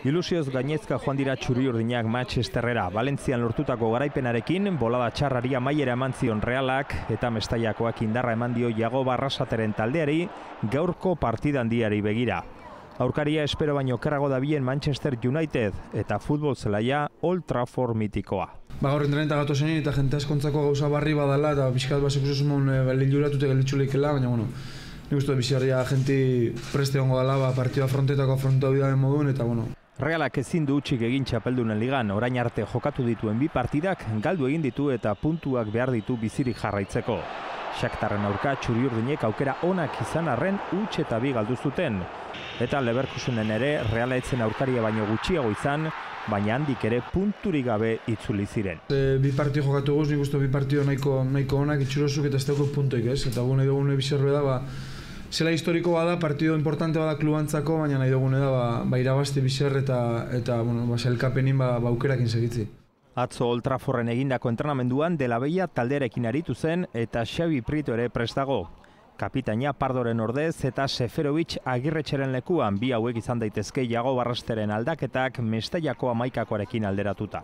Ilusioz gainezka joan dira txuri-urdinak Manchesterrera. Valentzian lortutako garaipenarekin, bolada txarrari amaiera eman zion Realak eta Mestaiakoak indarra eman dio Iago Barrasateren taldeari gaurko partida handiari begira. Aurkaria espero baino okerrago dabilen Manchester United eta futbol zelaia Old Trafford mitikoa. Gaur entreneta gato zenin eta jente askontzako gauza barri badala eta pixkat basek ususumon liluratute gelditxuleikela, baina bueno, nik uste bizarria jenti preste hongo dela partida frontetako afrontu bidaren moduen eta bueno. Realak ezin du utxik egin txapeldunen ligan, orain arte jokatu dituen bi partidak galdu egin ditu eta puntuak behar ditu bizirik jarraitzeko. Shakhtarren aurka txuri-urdinek aukera onak izan arren huts eta bi galdu zuten. Eta Leverkusenen ere Reala etzen aurkaria baino gutxiago izan, baina handik ere punturik gabe itzuli ziren. Bi partio jokatu guz, nik uste bi partio nahiko onak itxurosuk eta ez dauko puntoik ez. Eta nahi dugune bizarre da, zela historiko bada, partido importante bada klubantzako, baina nahi dugune da, irabazti bizar eta elkapenin aukerakin segitzi. Atzo Old Trafforden egindako entrenamenduan Dela Veia taldearekin aritu zen eta Xavi Prieto ere prest dago. Kapitaina Pardoren ordez eta Seferovic Agirretxeren lekuan bi hauek izan daitezke Iago Barrasteren aldaketak Mestaiako 11akoarekin alderatuta.